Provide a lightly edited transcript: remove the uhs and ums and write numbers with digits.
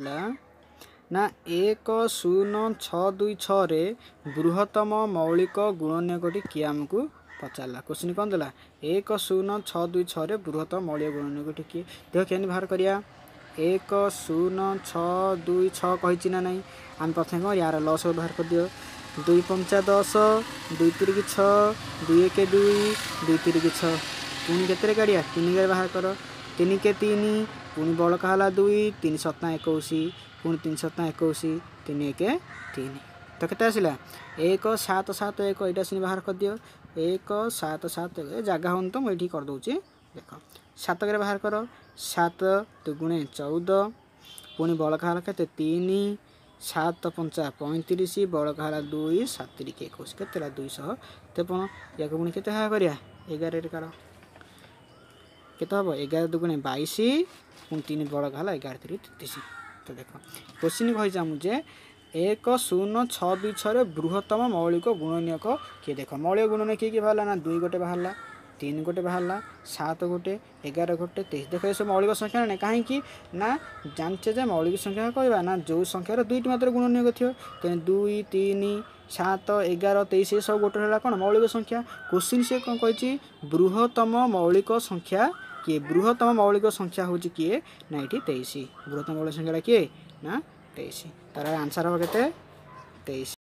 ନା 1 0 6 2 6ରେ ବୃହତ୍ତମ ମୌଳିକ ଗୁଣନୀୟକଟି କିଏ ଆମକୁ ପଚାରିଲା। କୋଶ୍ଚିନ୍ କ'ଣ ଦେଲା? 1 0 6 2 6ରେ ବୃହତ୍ତମ ମୌଳିକ ଗୁଣନୀୟକଟି କିଏ? ଦେଖ, କେମିତି ବାହାର କରିବା। 1 0 6 2 6 କହିଛି ନା ନାହିଁ? ଆମେ ପ୍ରଥମେ କ'ଣ ୟାର ଲସାଗୁ ବାହାର କରିଦିଅ। 2 ପଞ୍ଚା 10, 2 ତିରିକି 6, 2 1 2, 2 ତିରିକି 6। ପୁଣି କେତେରେ କାଢ଼ିବା? 3 ରେ ବାହାର କର। 3 କେ 3, ପୁଣି ବଳକା ହେଲା 2, 3 ସତା 21, ପୁଣି 3 ସତା 21, 3 1 3। ତ କେତେ ଆସିଲା? 1 7 7 1। ଏଇଟା ସିନି ବାହାର କରିଦିଅ। 1 7 7 1। ଏ ଜାଗା ହେଉନି ତ ମୁଁ ଏଇଠି କରିଦେଉଛି। ଦେଖ, 7କରେ ବାହାର କର। 7 ଦୁଗୁଣେ 14, ପୁଣି ବଳକା ହେଲା କେତେ? 3। 7 ପଞ୍ଚା 35, ବଳକା ହେଲା 2, 7 ତିରିକି 21। କେତେ ହେଲା? 253। ୟାକୁ ପୁଣି କେତେ ଭାଗ କରିବା? 11ରେ କାଢ଼, କେତେ ହେବ? 11 ଦୁଗୁଣେ 22, ପୁଣି 3 ବଳକା ହେଲା, 11 ତିରି 33। ତ ଦେଖ, କୋଶ୍ଚିନ୍ କହିଛି ଆମକୁ ଯେ 1 0 6 2 6ରେ ବୃହତ୍ତମ ମୌଳିକ ଗୁଣନୀୟକ କିଏ? ଦେଖ, ମୌଳିକ ଗୁଣନୀୟ କିଏ କିଏ ବାହାରିଲା ନା 2 ଗୋଟେ ବାହାରିଲା, 3 ଗୋଟେ ବାହାରିଲା, 7 ଗୋଟେ, 11 ଗୋଟେ, 23। ଦେଖ, ଏସବୁ ମୌଳିକ ସଂଖ୍ୟା ନା? କାହିଁକି ନା ଜାଣିଛେ ଯେ ମୌଳିକ ସଂଖ୍ୟା କହିବା ନା ଯେଉଁ ସଂଖ୍ୟାର ଦୁଇଟି ମାତ୍ର ଗୁଣନୀୟକ ଥିବ। ତେଣୁ 2, 3, 7, 11, 23 ଏସବୁ ଗୋଟେ ହେଲା କ'ଣ? ମୌଳିକ ସଂଖ୍ୟା। କୋଶ୍ଚିନ୍ ସେ କ'ଣ କହିଛି? ବୃହତ୍ତମ ମୌଳିକ ସଂଖ୍ୟା କିଏ? ବୃହତ୍ତମ ମୌଳିକ ସଂଖ୍ୟା ହେଉଛି କିଏ ନା ଏଇଠି 23। ବୃହତ୍ତମ ମୌଳିକ ସଂଖ୍ୟାଟା କିଏ ନା 23। ତାର ଆନ୍ସର୍ ହେବ କେତେ? 23।